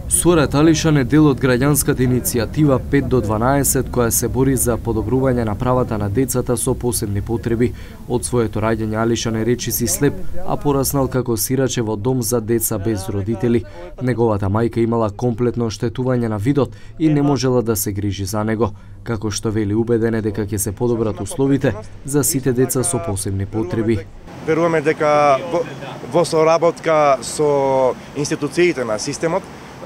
Сурет Алишан е дел од граѓанската иницијатива 5 до 12 која се бори за подобрување на правата на децата со посебни потреби. Од своето раѓање Алишан е речиси слеп, а пораснал како сираче во дом за деца без родители. Неговата мајка имала комплетно оштетување на видот и не можела да се грижи за него. Како што вели, убеден е дека ќе се подобрат условите за сите деца со посебни потреби. Веруваме дека во соработка со институциите на системот,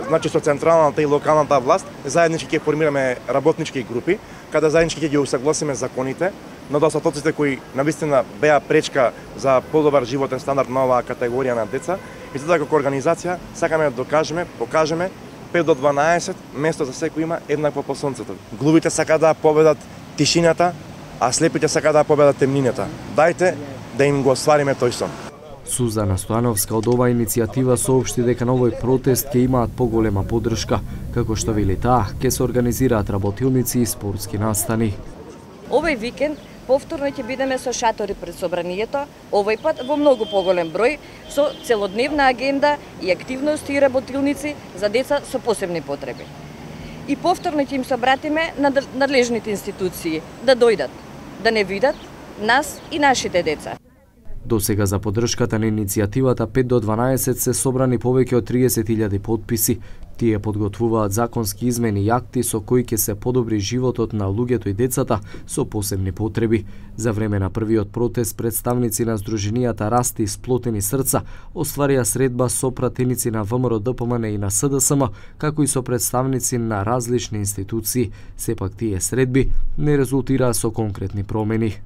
значи со централната и локалната власт, заеднички ќе формираме работнички групи, каде заеднички ќе ги усагласиме законите, недостатоците кои навистина беа пречка за подобар животен стандард на оваа категорија на деца. И затоа како организација сакаме да докажеме, покажеме 5 до 12 место за секој има еднакво по сонцето. Глувите сака да победат тишината, а слепите сака да победат темнината. Дајте да им го оствариме тој сон. Сузана Стојановска од оваа иницијатива соопшти дека на овој протест ќе имаат поголема поддршка, како што вели таа, ќе се организираат работилници и спортски настани. Овој викенд повторно ќе бидеме со шатори пред собранието, овој пат во многу поголем број, со целодневна агенда и активности и работилници за деца со посебни потреби. И повторно ќе им се обратиме на надлежните институции да дојдат, да не видат нас и нашите деца. До сега за поддршката на иницијативата 5 до 12 се собрани повеќе од 30.000 подписи. Тие подготвуваат законски измени и акти со кои ќе се подобри животот на луѓето и децата со посебни потреби. За време на првиот протест представници на Сдруженијата Расти и Сплотени срца остварија средба со пратеници на ВМРО ДПМН и на СДСМ, како и со представници на различни институции. Сепак тие средби не резултираа со конкретни промени.